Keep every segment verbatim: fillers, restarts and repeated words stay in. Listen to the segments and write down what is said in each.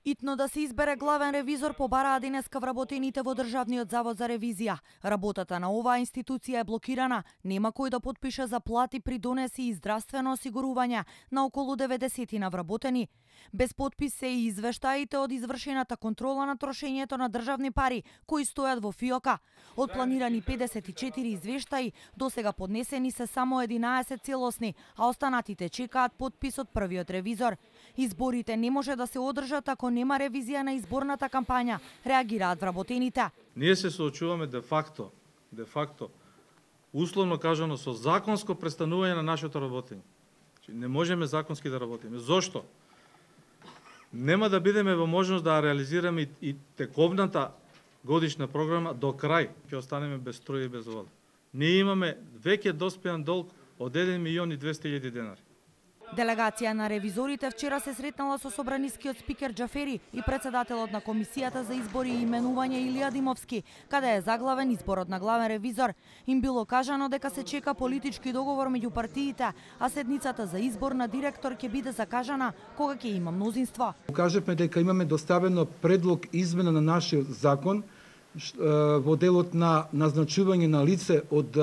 Итно да се избере главен ревизор побараа денеска вработените во Државниот завод за ревизија. Работата на оваа институција е блокирана, нема кој да потпише за плати, придонеси и здравствено осигурување на околу деветдесет на вработени. Без подпис се и извештаите од извршената контрола на трошењето на државни пари кои стојат во ФИОКа. Од планирани педесет и четири извештаи, досега поднесени се само единаесет целосни, а останатите чекаат подпис од првиот ревизор. Изборите не може да се одржат ако нема ревизија на изборната кампања, реагираат вработените. Ние се соочуваме де факто, де факто, условно кажано со законско престанување на нашето работење. Не можеме законски да работиме. Зошто? Нема да бидеме во можност да реализираме и тековната годишна програма до крај. Ќе останеме без струја и без вода. Ние имаме веќе доспеан долг од еден милион и двесте илјади денари. Делегација на ревизорите вчера се сретнала со собранискиот спикер Џафери и председателот на Комисијата за избори и именување Илија Димовски, каде е заглавен изборот на главен ревизор. Им било кажано дека се чека политички договор меѓу партиите, а седницата за избор на директор ќе биде закажана кога ќе има мнозинство. Кажевме дека имаме доставено предлог измена на нашиот закон во делот на назначување на лице од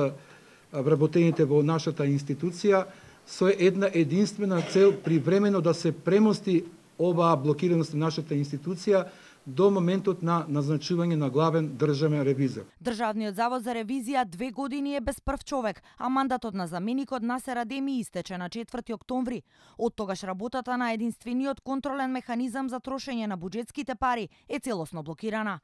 вработените во нашата институција, со една единствена цел привремено да се премости оваа блокираност на нашата институција до моментот на назначување на главен државен ревизор. Државниот завод за ревизија две години е без прв човек, а мандатот на заменикот Насер Адеми истече на четврти октомври. Од тогаш работата на единствениот контролен механизам за трошење на буџетските пари е целосно блокирана.